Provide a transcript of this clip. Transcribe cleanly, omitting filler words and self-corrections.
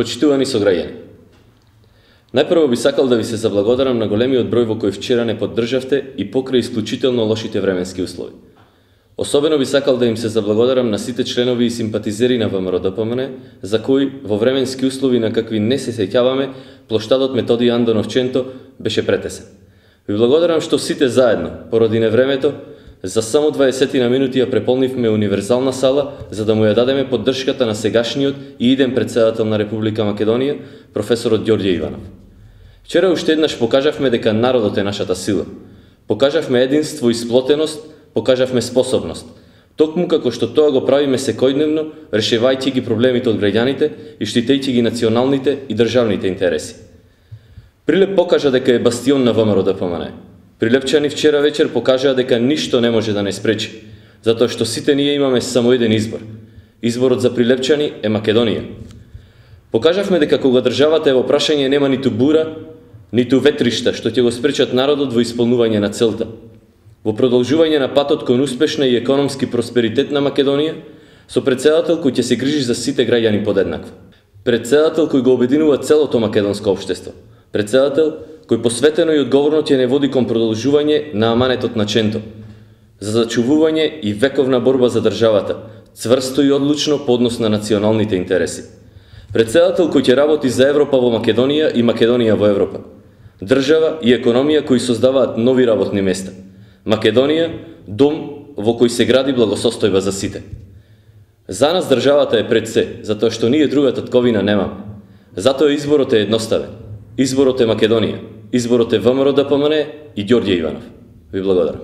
Почитувани сограѓани, најпрво би сакал да ви се заблагодарам на големиот број во кој вчера не поддржавте и покрај исклучително лошите временски услови. Особено би сакал да им се заблагодарам на сите членови и симпатизери на ВМРО-ДПМН, за кои во временски услови на какви не се сеќаваме, плоштадот Методи Андоновченто беше претесен. Ви благодарам што сите заедно, поради невремето, за само 20 на минути ја преполнивме универзална сала за да му ја дадеме поддршката на сегашниот и иден претседател на Република Македонија, професорот Ѓорѓе Иванов. Вчера уште еднаш покажавме дека народот е нашата сила. Покажавме единство и сплотеност, покажавме способност. Токму како што тоа го правиме секојдневно, решавајќи ги проблемите од граѓаните и штитејќи ги националните и државните интереси. Прилеп покажа дека е бастион на ВМРО-ДПМН. Прилепчани вчера вечер покажаа дека ништо не може да не спречи, затоа што сите ние имаме само еден избор. Изборот за Прилепчани е Македонија. Покажавме дека кога државата е во прашање нема ниту бура, ниту ветришта што ќе го спречат народот во исполнување на целта. Во продолжување на патот кон успешна и економски просперитет на Македонија, со претседател кој ќе се грижи за сите граѓани подеднакво. Претседател кој го обединува целото македонско општество. Претседател кој посветено и одговорно ќе не води кон продолжување на аманетот на Ченто, за зачувување и вековна борба за државата, цврсто и одлучно по однос на националните интереси. Претседател кој ќе работи за Европа во Македонија и Македонија во Европа. Држава и економија кои создаваат нови работни места. Македонија, дом во кој се гради благосостојба за сите. За нас државата е пред се, затоа што ние друга татковина немаме. Затоа изборот е едноставен. Изборот е Македонија. Изборот е ВМРО-ДПМН и Ѓорѓе Иванов. Ви благодарам.